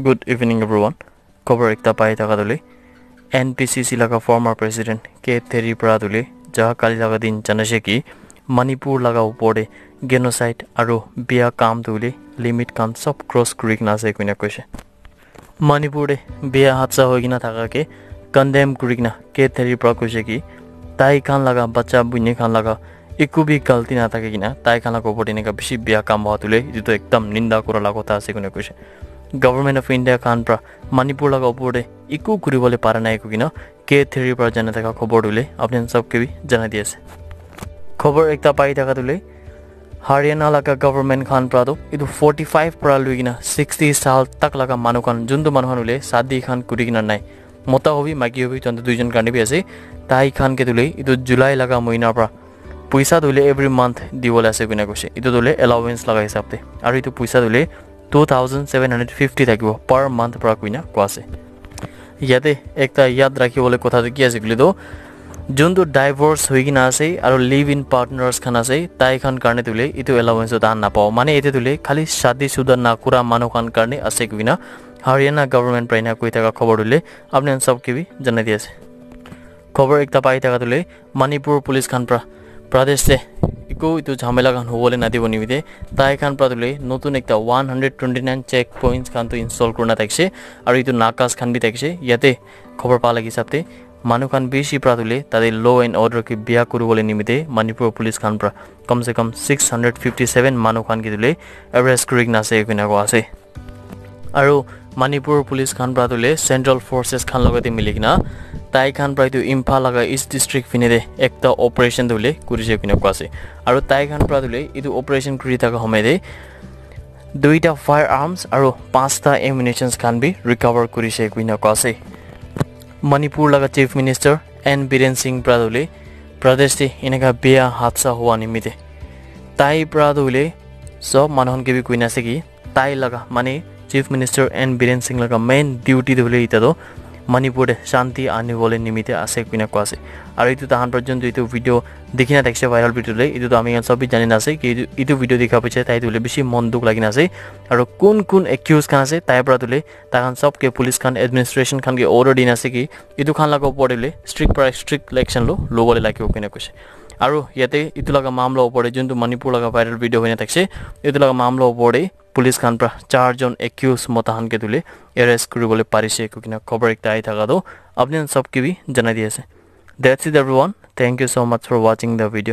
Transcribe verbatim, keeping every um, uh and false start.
Good evening, everyone. Khobor ekta pai thaka tu le, N P C C laga former president K Theri para tu le, ja kali laga din janaise ki Manipur laga upor te genocide aru biya kam tu le limit khan sob cross kuri kena ase koina koise. Manipur te biya hadsa hoi kena thaka ke condemn kuri kena K Theri para koise ki tai khan laga bacha buini khan laga eku bi galti na thaki kena tai khan laga upor te eneka bishi biya kam hua tu le etu tu ekdam ninda kura laga kotha ase koina koise. Government of India khan para Manipur laga upor te eku kuri bole para nai koina K Theri para janai thaka khobor tu le apni khan sob ke bi janai di ase. Khobor ekta pai thaka tu le Haryana laga government khan para tu etu forty five para lui kena sixty saal tak laga manu khan juntu manu khan hoile shadi khan kuri kena nai, mota hobi maiki hobi tontu duijon karne bi ase, tai khan ke tu le etu July laga mohina para puisa tu le every month di bole ase koina koise. Etu tu le allowance laga hisab te aru etu puisa tu le two thousand seven hundred fifty thakibo per month para koina koa ase. Yate ekta yad rakhi bole kotha tu ki ase koile tu juntu divorce hoi kena ase aru live in partners khan ase, tai khan karne tu le etu allowance tu tahan napao. Mane ete tu le khali shadi shuda na kura manu khan karne ase koina Haryana government para ena koi thaka khobor tu le apni khan sob ke bi janai di ase. Khobor ekta pai thaka tu le Manipur police khan para Pradesh te eku etu jhamela khan hobole na dibo nimite tai khan para tu le notun ekta one hundred twenty nine check points khan tu install kurina thakise aru etu nakas khan bi thakise. Yate khobor pa lagi hisab te manu khan bishi para tu le tate law and order ke biya kuri bole nimite Manipur police khan para kam se kam six hundred fifty seven manu khan ke tu le arrest kuri kena ase koina koa ase. Aru Manipur police khan para tu le central forces khan logote mili kena tai khan para etu Imphal laga east district phine te ekta operation tu le kuri se koina koa ase. Aru tai khan para tu le etu operation kuri thaka homoi te duita firearms aru pasta ammunitions khan bi recover kuri se koina koa ase. Manipur laga chief minister N Biren Singh para tu le Pradesh te eneka biya hadsa hua nimite tai para tu le sob manu khan ke bi koina ase ki tai laga mane chief minister N Biren Singh laga main duty tu hoile eta tu Manipur te shanti ani bole nimite ase koina koa ase. Aru etu tahan para juntu etu video dikhi na thakise viral video le etu tu ami khan sob bi jani na ase ki etu, etu video dikha piche tai tu hoile bishi mon dukh lagi na ase. Aru kun kun accuse khan ase tai para tu le tai khan sob ke police khan administration khan ke order di na ase ki etu khan laga upor te le strict para strict action lo lobole lagibo koina koise. Aru yate etu laga mamla upor te juntu Manipur laga viral video hoina thakise etu laga mamla upor te police khan para char jon accused mota khan ke tu le arrest kuri bole parise koina khobor ekta ahi thaka tu apni khan sob ke bi janai di ase. That's it, everyone. Thank you so much for watching the video.